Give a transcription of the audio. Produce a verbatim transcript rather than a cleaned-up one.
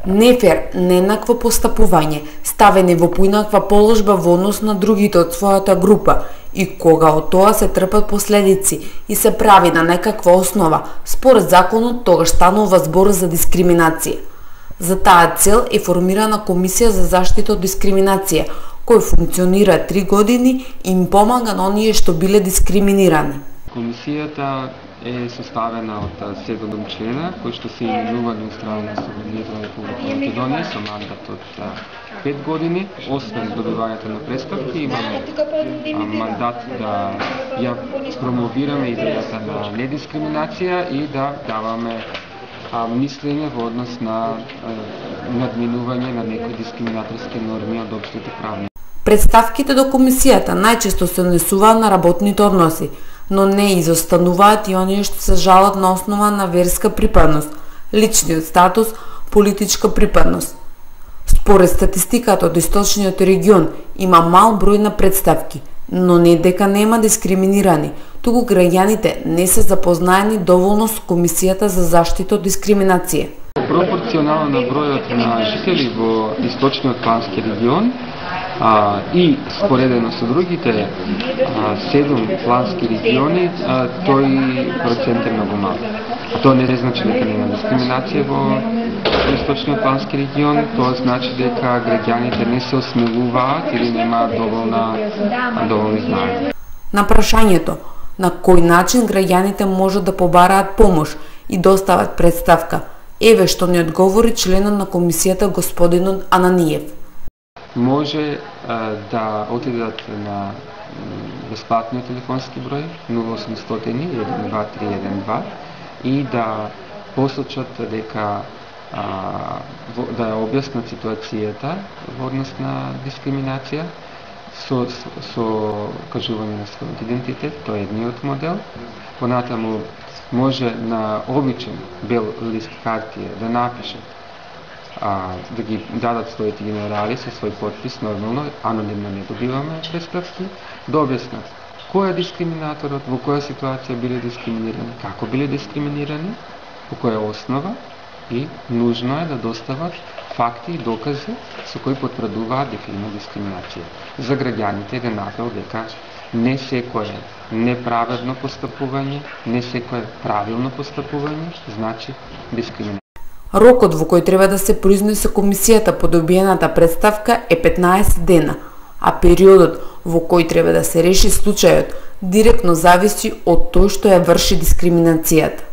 Нефер, нееднакво постапување, ставени во поинаква положба во однос на другите од својата група и кога од тоа се трпат последици и се прави на некаква основа, според законот тогаш станува збор за дискриминација. За таа цел е формирана Комисија за заштита од дискриминација, кој функционира три години и им помага на оние што биле дискриминирани. Комисијата е составена од седум члена кои што се именувани од страна на Собранието на Република Македонија со мандат од пет години. Освен добивањето на представки, имаме мандат да ја промовираме идејата на недискриминација и да даваме мислење во однос на надминување на некои дискриминаторски норми од општите правни. Представките до комисијата најчесто се однесуваат на работните односи, но не изостануваат и оние што се жалат на основа на верска припадност, личниот статус, политичка припадност. Според статистиката од источниот регион има мал број на представки, но не дека нема дискриминирани, туку граѓаните не се запознаени доволно со Комисијата за заштита од дискриминација. Пропорционално на бројот на жители во источниот плански регион а, и споредено со другите а, седум плански региони, а, тој процент е многу мал. Тоа не значи дека нема дискриминација во источниот плански регион, тоа значи дека граѓаните не се осмелуваат или нема доволна доволни знаења. На прашањето на кој начин граѓаните можат да побараат помош и достават представка, еве што ни одговори членот на комисијата господинот Ананиев. Може а, да отидат на бесплатниот телефонски број нула осумстотини еден два три еден два и да посочат дека а, во, да ја објаснат ситуацијата во однос на дискриминација со, со, со кажување на својот идентитет, тоа е едниот модел. Понатаму може на обичен бел лист хартија да напишат, а, да ги дадат своите генерали со свој подпис, нормално, анонимно не добиваме представки, да објаснат кој е дискриминаторот, во која ситуација биле дискриминирани, како биле дискриминирани, по која основа и нужно е да достават факти и докази со кои потврдуваат дека има дискриминација. За граѓаните е апел дека не секое неправедно постапување, не секое правилно постапување значи дискриминација. Рокот во кој треба да се произнесе комисијата по добиената представка е петнаесет дена, а периодот во кој треба да се реши случајот директно зависи од тој што ја врши дискриминацијата.